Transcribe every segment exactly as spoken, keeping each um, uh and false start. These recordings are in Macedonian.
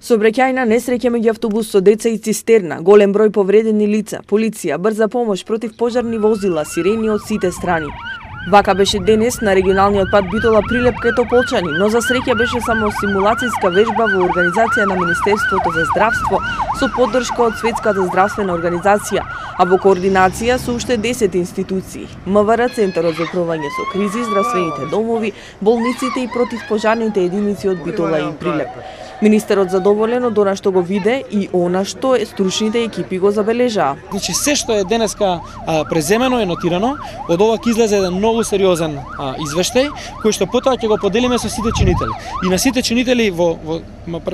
Сообраќајна несреќа меѓу автобус со деца и цистерна, голем број повредени лица, полиција, брза помош, против пожарни возила, сирени од сите страни. Вака беше денес на регионалниот пат Битола Прилеп кај Тополчани, но за среќа беше само симулацијска вежба во организација на Министерството за здравство со поддршка од Светската здравствена организација, а во координација со уште десет институции: МВР, Центарот за управување со кризи, здравствените домови, болниците и противпожарните единици од Битола и Прилеп. Министерот задоволен од она што го виде и она што стручните екипи го забележаа. Значи се што е денеска а, преземено е нотирано, од ова ќе излезе еден многу сериозен а, извештај кој што потоа ќе го поделиме со сите чинители. И на сите чинители во, во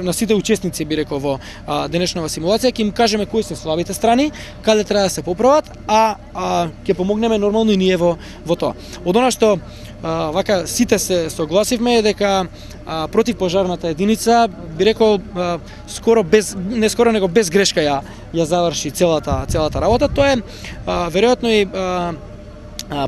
на сите учесници би рекол во а, денешнава симулација ќе им кажеме кои се слабите страни, каде треба да се поправат, а, а ќе помогнеме нормално и ние во во тоа. Од она што а, вака сите се согласивме е дека а, противпожарната единица би рекол а, скоро без не скоро него без грешка ја ја заврши целата целата работа. Тоа е а, веројатно и а,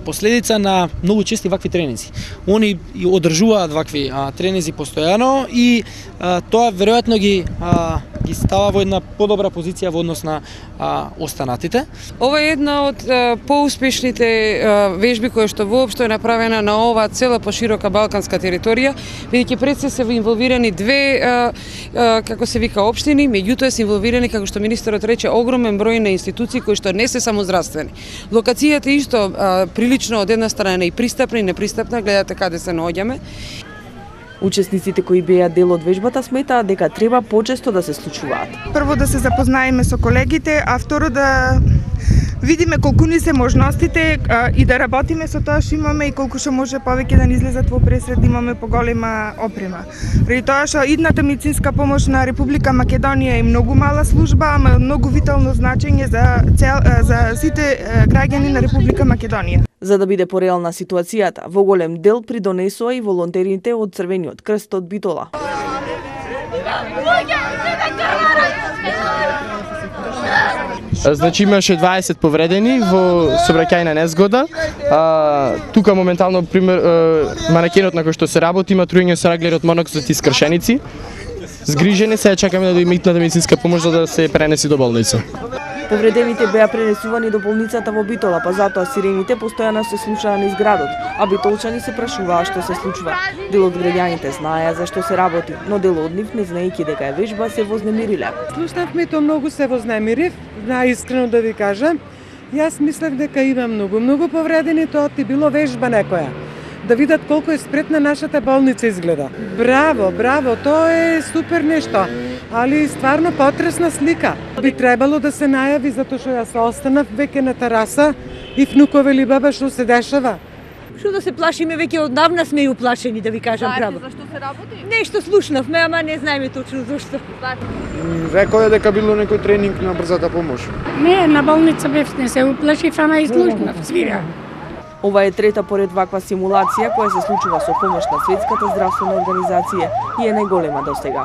последица на многу чести вакви тренинзи. Они одржуваат вакви а, тренинзи постојано и а, тоа веројатно ги а, ги става во една подобра позиција во однос на а, останатите. Ова е една од а, поуспешните а, вежби која што воопшто е направена на оваа цела поширока балканска територија, бидејќи пред се се инволвирани две а, а, како се вика општини, меѓутоа се инволвирани, како што министерот рече, огромен број на институции кои што не се само здравствени. Локацијата исто а, прилично од една страна и пристапна и непристапна, гледате каде се наоѓаме. Учесниците кои беа дел од вежбата сметаат дека треба почесто да се случуваат. Прво да се запознаеме со колегите, а второ да видиме колку ни се можностите а, и да работиме со тоа што имаме и колку што може повеќе да ни излезат во пресред, да имаме поголема опрема. Преди тоа што идната медицинска помош на Република Македонија е многу мала служба, ама многу витално значење за цел, за сите граѓани на Република Македонија. За да биде пореална ситуацијата, во голем дел придонесоа и волонтерите од Црвениот крст од Битола. Значи имаше дваесет повредени во сообраќајна незгода. А, тука моментално пример манекенот на кој што се работи има труење со раглери од моноксид и скршеници. Згрижени се, чекаме да дојде итната медицинска помош за да се пренеси до болница. Повредените беа пренесувани до болницата во Битола, па затоа сирените постојано се слушаа низ градот, а битолчани се прашуваа што се случува. Дел од граѓаните знаеа за што се работи, но дел од нив, не знаејќи дека е вежба, се вознемириле. Слушнавме тоа, многу се вознемирив, наискрено да ви кажам. Јас мислев дека има многу, многу повредени, тоа ти било вежба некоја. Да видат колку е спретна нашата болница изгледа. Браво, браво, тоа е супер нешто, али стварно потресна слика. Би требало да се најави, затоа што јас останав веќе на тераса и внукове ли баба што се дешава. Што да се плашиме, веќе однавна сме и уплашени, да ви кажам право. Зашто се работи? Нешто слушнавме, ама не знаеме точно зашто. Рекоа дека било некој тренинг на брзата помош. Не, на болница бев, не се уплашив, ама и слушнав, свира. Ова е трета поред ваква симулација која се случува со помош на Светската здравствена организација и е најголема достега.